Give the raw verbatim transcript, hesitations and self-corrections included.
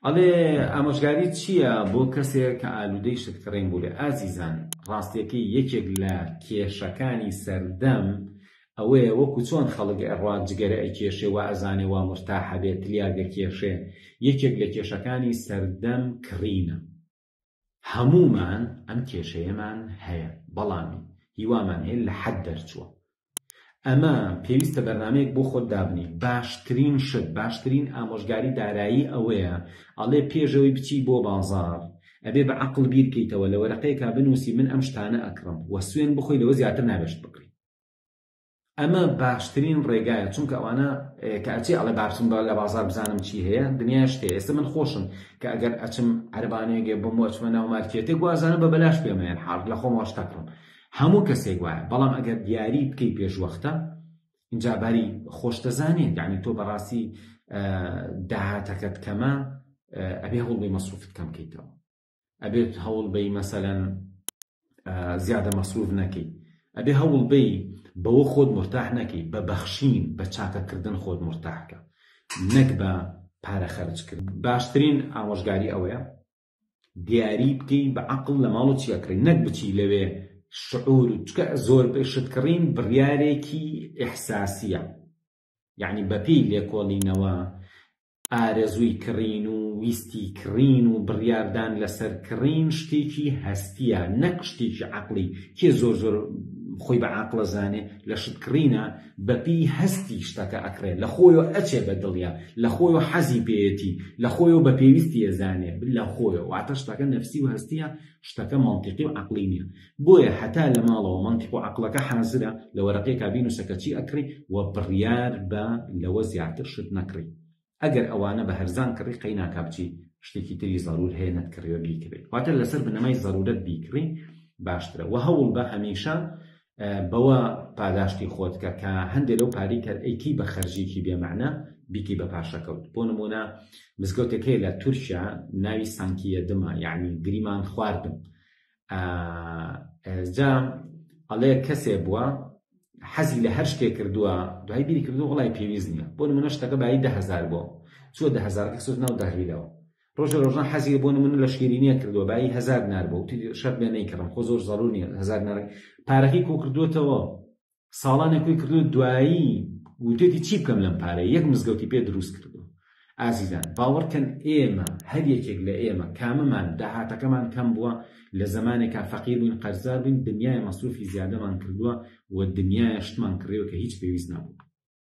ئەڵێ ئامۆژگاری چییە بۆ کەسێک کە ئالوودەی شتکڕین بوو؟ ئازیزان، ڕاستیەکەی یەکێک لە کێشەکانی سەردەم ئەوەیە وەکو چۆن خەڵک ئەڕوا جگەرە ئەکێشێ وا ئەزانێ وا مورتاحە بێت تلیاک ئەکێشێ، یەکێک لە کێشەکانی سەردەم کڕینە. هەمومان ئەم کێشەیەمان هەیە، بەڵام هیوامان هەیە لە حەد دەرچووە. ئەمە پێویستە بەرنامەیەک بۆ خۆت دابنی. باشترین شت، باشترین ئامۆژگاری دارایی ئەوەیە ئەڵێ پێشەوەی بچی بۆ بازار ئەبێ بە عەقڵ بیرکەیتەوە، لە وەرەقەیەکا بنووسی من ئەم شتانە ئەکڕم و سوێن بخۆی لەوە زیاتر نابێشت بکڕی. ئەمە باشترین ڕێگایە، چونکە ئەوانە کە ئەچێ ئەڵێ بابچم لە بازار بزانم چی هەیە، دنیا شتێ. ئێستا من خۆشم کە ئەگەر ئەچم عەربانەیەک بۆم ئەچمە ناو مارکێتێک وازانم بە بەلاش پێمەیان حاڵ لە خۆم شتەکڕم، هەموو کەسێک وایە. بەڵام ئەگەر دیاری بکەی پێش وەختە اینجا باری خۆش دەزانێت، یعنی تۆ بەڕاستی داهاتەکەت کەمە، ئەبێ هەوڵ بەی مەسروفت کەم بکەیتەوە، ئەبێت هەوڵ بەی مەسەلەن زیادە مەسروف نەکەی، ئەبێ هەوڵ بەی بەوە خۆت مرتاح نەکەی، بە بەخشین بە چاکەکردن خۆت مرتاحکە، نەک بە پارە خەرجکردن. باشترین ئامۆژگاری ئەوەیە دیاری بکەی بە عەقڵ لە ماڵ و چیەکڕی، نەک بچی لەوێ شعور، چکە زۆر شتکڕین بڕیارێکی ئیحساسیە، یعنی بەپێی لێکۆڵینەوە ئارەزووی کڕین و ویستی کڕین و بڕیاردان لەسەر کڕین شتێکی هەستیە، نەک شتێکی عەقڵی. کێ زۆر زۆر خۆی بە عەقڵە زانێ لە شتکڕینە بەپێی هەستی شتەکە ئەکڕێ، لە خۆیەوە ئەچێ بە دڵیا، لە خۆیەوە حەزی پێیەتی، لە خۆیەوە بە پێویستی ئەزانێ، لە خۆیەوە. واتە شتەکە نەفسی و هەستیە، شتەکە مەنتیقی و عەقڵی نییە. بۆیە هەتا لە ماڵەوە مەنتیق و عەقڵەکە حازرە، لە وەرەقەیەکا بینووسە کە چی ئەکڕی و بڕیار بە لەوە زیاتر شت نەکڕی. ئەگەر ئەوانە بە هەرزان کڕی قەی ناکا بچی شتێکی تری زەرور هەیە نەتکڕیوە بیکڕی، واتە لەسەر بنەمای زەرورەت بیکڕی باشترە. وە هەوڵ بە هەمیشە بەوە پاداشتی خۆت کە کە هەندێک لەو پارەی کە ئەیکی بە خەرجێکی بێمەعنا بیکی بە پاشەکەوت. بۆ نمونە مزگەوتێک هەیە لە تورکیا ناوی سانکیە دمە، یعنی گریمان خواردم. جا ئەڵێ کەسێ بووە حەزی لە هەر شتێک کردووە، دوای بیری کردووە وڵای پێویست نییە. بۆ نمونە شتەکە بایی ده هەزار بووە، چووە ده هەزارەکە خستۆتە ناو دەهلیلەوە. ڕۆژە ڕۆژان حەزی بۆ نمونە لە شیرینیە کردووە، بایی هەزار دینار بوو، وتی شەرت بێ نەیکڕم، خۆ زۆر زەرور نییە هەزار دینار. پارەکەی کۆ کردووەتەوە، ساڵانێک کۆی کردووە، دوایی وتێتی چی بکەم لەم پارەیە، یەک مزگەوتی پێ دروست کردووە. ئازیزان باوەڕکەن ئێمە هەر یەکێک لە ئێمە کامەمان داهاتەکەمان کەم بووە، لە زەمانێکا فەقیر بووین قەرزار بووین، دنیای مەسروفی زیادەمان کردووە و دنیای شتمان کڕیوە کە هیچ پێویست نەبوو.